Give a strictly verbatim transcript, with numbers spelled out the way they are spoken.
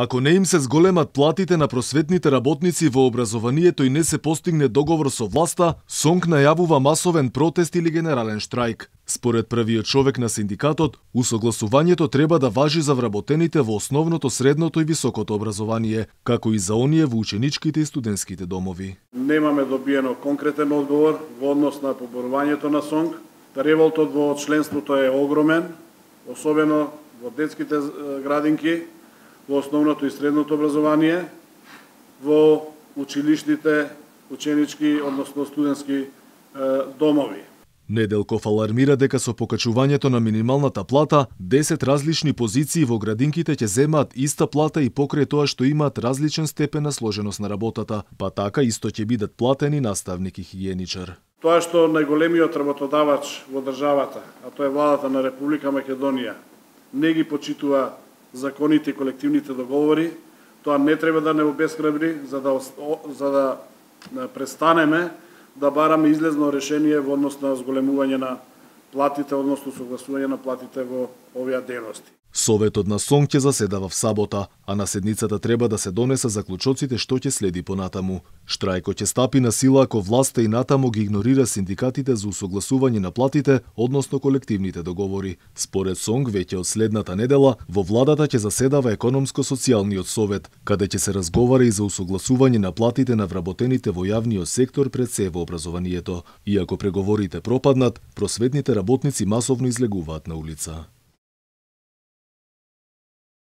Ако не им се зголемат платите на просветните работници во образованието и не се постигне договор со власта, СОНК најавува масовен протест или генерален штрајк. Според првиот човек на синдикатот, усогласувањето треба да важи за вработените во основното, средното и високото образование, како и за оние во ученичките и студентските домови. Немаме добиено конкретен одговор во однос на поборувањето на СОНК. Револтот во членството е огромен, особено во детските градинки, во основното и средното образование, во училишните, ученички, односно студентски домови. Неделков алармира дека со покачувањето на минималната плата, десет различни позиции во градинките ќе земаат иста плата и покрај тоа што имаат различен степен на сложеност на работата, па така исто ќе бидат платени наставник и хигиеничар. Тоа што најголемиот работодавач во државата, а тоа е владата на Република Македонија, не ги почитува законите и колективните договори, тоа не треба да не обесхрабри за да за да престанеме да бараме излезно решение во однос на зголемување на платите, односно согласување на платите во овие дејности. Советот на СОНК ќе заседава в сабота, а на седницата треба да се донеса заклучоците што ќе следи понатаму. Штрајкот ќе стапи на сила ако власта и натаму ги игнорира синдикатите за усогласување на платите, односно колективните договори. Според СОНК, веќе од следната недела, во владата ќе заседава економско-социјалниот совет, каде ќе се разговара и за усогласување на платите на вработените во јавниот сектор пред се во образованието. Иако преговорите пропаднат, просветните работници масовно излегуваат на улица.